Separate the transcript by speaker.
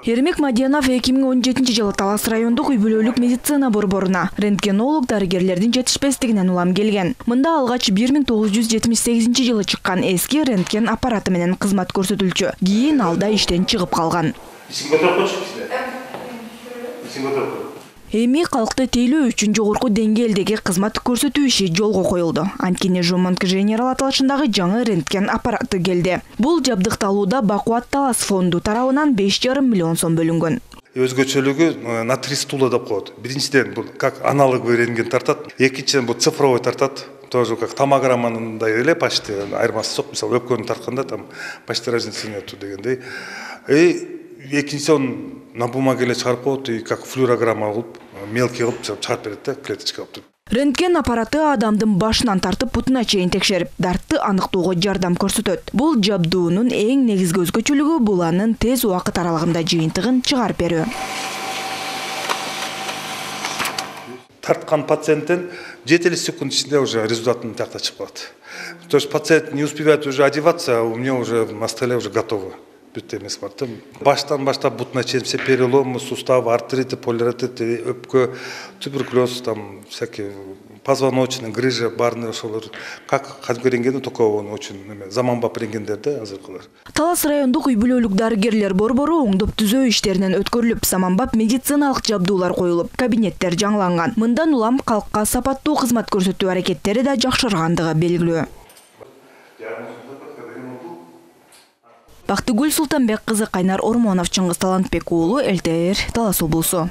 Speaker 1: Ермек Мадиянов 2017-жылы Талас райондук үй-бүлөлүк медицина борборуна рентгенолог дарыгерлердин жетишпестигинен улам келген. Мында алгач 1978-жылы чыккан эски рентген аппараты менен кызмат көрсөтүлчү. Кийин алда иштен чыгып калган. Эми калкты тейлөө үчүн жогорку деңгээлдеги кызмат көрсөтүү иши жолго коюлду. Анткени Жомонт Женерал аталышындагы жаңы рентген аппараты келди. Бул жабдыкталууда Бакубат Талас фонду тарабынан 5,5 миллион сом бөлүнгөн.
Speaker 2: Өзгөчөлүгү на 3 стула деп коет. Биринчиден бул как аналоговый рентген тартат, экинчиден бул цифровой тартат. Тоже как томограммандай эле почти айырмасы жок. Мисалы өпкөнү тартканда там почти разницы нету дегендей. Экинчиси он на бумаге эле чыгарып коет и как флюорограмма кылып, мелкий кылып чыгарып берет да, клеточка кылып.
Speaker 1: Рентген аппараты адамдын башынан тартып бутуна чейин текшерип, дартты аныктоого жардам көрсөтөт. Бул жабдуунун эң негизги өзгөчөлүгү бул анын тез убакыт аралыгында жыйынтыгын чыгарып берүү.
Speaker 2: Тарткан пациенттен 7 секунд ичинде уже результатын тиякта чыгып калат. То есть пациент не успевает уже одеваться, а у меня уже на столе уже готово. Баштан баштап бутуна чейин все переломы, суставы, артриты, полиартрит, өпкө, туберкулез, там всякие позвоночный, грыжа, барны ошолор. Как кадимки рентген, только он очень заманбап рентгендерди азыркылар.
Speaker 1: Талас райондук үй-бүлөлүк дарыгерлер борбору оңдоп түзөө иштеринен өткөрүлүп, заманбап медициналык жабдуулар коюлуп, кабинеттер жаңыланган. Мындан улам калкка сапаттуу кызмат көрсөтүү аракеттери да жакшыргандыгы белгилүү. Бактыгүл Султанбек кызы, Кайнар Ормонов, Чыңгыз Талантбек уулу, ЛТР, Талас облусу.